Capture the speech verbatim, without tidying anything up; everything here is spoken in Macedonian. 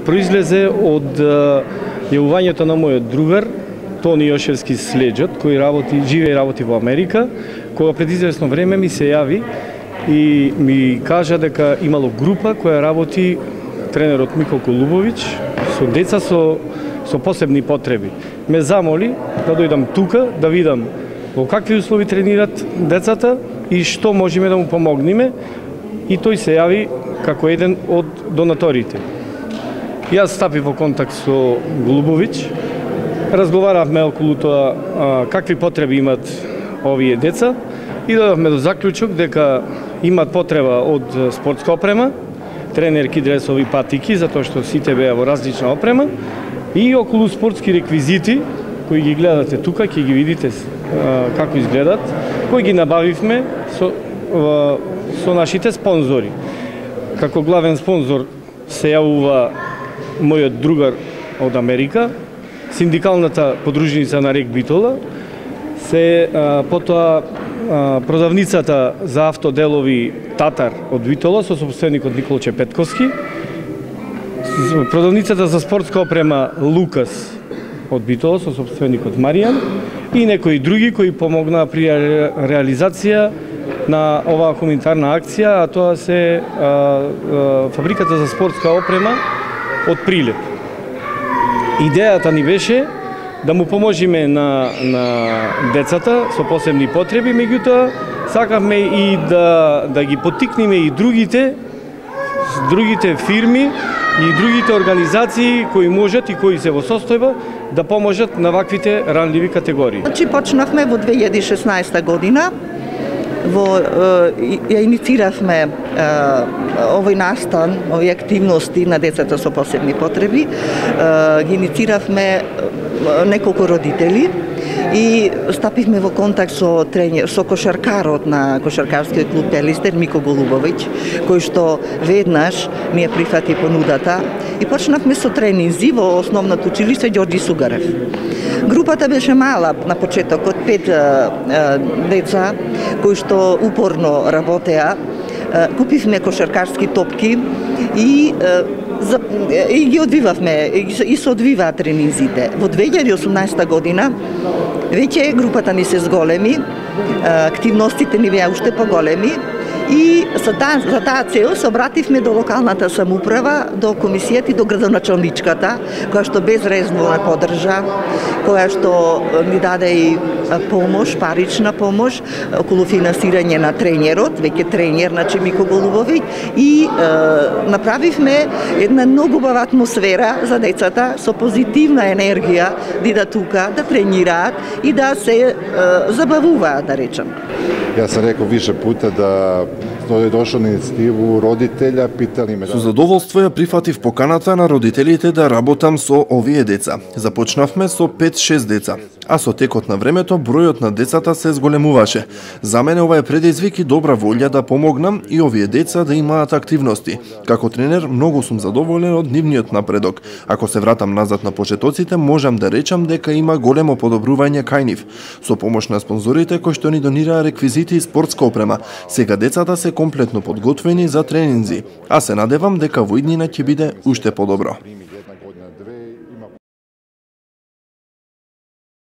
произлезе од јавувањето на мојот другар Тони Јошевски Следжот, кој работи, живее и работи во Америка, кога пред известно време ми се јави и ми кажа дека имало група која работи, тренерот Мико Голубовиќ, со деца со, со посебни потреби. Ме замоли да дојдам тука, да видам во какви услови тренират децата и што можеме да му помогнеме, и тој се јави како еден од донаторите. Јас стапив во контакт со Голубовиќ, разговаравме околу тоа а, какви потреби имат овие деца и додавме до заклучок дека имат потреба од спортска опрема, тренерки, дресови, патики, затоа што сите беа во различна опрема, и околу спортски реквизити, кои ги гледате тука, ќе ги видите а, како изгледат, кои ги набавивме со, а, со нашите спонзори. Како главен спонзор се јавува мојот другар од Америка, синдикалната подружница на Рек Битола, се а, потоа а, продавницата за автоделови Татар од Битола со собственикот Николче Петковски, продавницата за спортска опрема Лукас од Битола со собственикот Маријан и некои други кои помогнаа при реализација на оваа хуманитарна акција, а тоа се а, а, фабриката за спортска опрема од Прилеп. Идејата ни беше да му поможиме на, на децата со посебни потреби, меѓутоа сакавме и да, да ги поттикнеме и другите, другите фирми и другите организации кои можат и кои се во состојба да поможат на ваквите ранливи категории. Значи почнавме во две илјади и шеснаесета година, во ја иницииравме овој настан, овие активности на децата со посебни потреби, ги иницииравме неколку родители и стапивме во контакт со тренер, со кошаркарот на кошаркарскиот клуб Пелистер Мико Голубовиќ, кој што веднаш ми ја прифати понудата и почнавме со тренинзи во основното училиште Ѓорѓи Сугарев. Групата беше мала на почетокот, пет а, а, деца кои што упорно работеа. А, купивме кошаркарски топки и а, за, и ги одвивавме, и се одвиваат тренинзите. Во две илјади и осумнаесета година веќе групата ни се зголеми, активностите ни беа уште поголеми и за таа, за таа цел се обративме до локалната самоуправа, до комисијата и до градоначалничката, која што безрезервно не поддржа, која што ни даде и помош, парична помош околу финансирање на тренерот, веќе тренер, значи Мико Голубовиќ, и е, направивме една многу убава атмосфера за децата со позитивна енергија да идат тука, да тренираат и да се е, забавуваат, да речем. Ја сам рекол више пута да е дошол на инициативу родителја, питали ме... Со задоволство ја прифатив поканата на родителите да работам со овие деца. Започнавме со пет-шест деца, а со текот на времето бројот на децата се зголемуваше. За мене ова е предизвик и добра волја да помогнам и овие деца да имаат активности. Како тренер многу сум задоволен од нивниот напредок. Ако се вратам назад на почетоците, можам да речам дека има големо подобрување кај нив. Со помош на спонзорите кои што ни донираа реквизити и спортска опрема, сега децата се комплетно подготвени за тренинзи, а се надевам дека во иднина ќе биде уште подобро.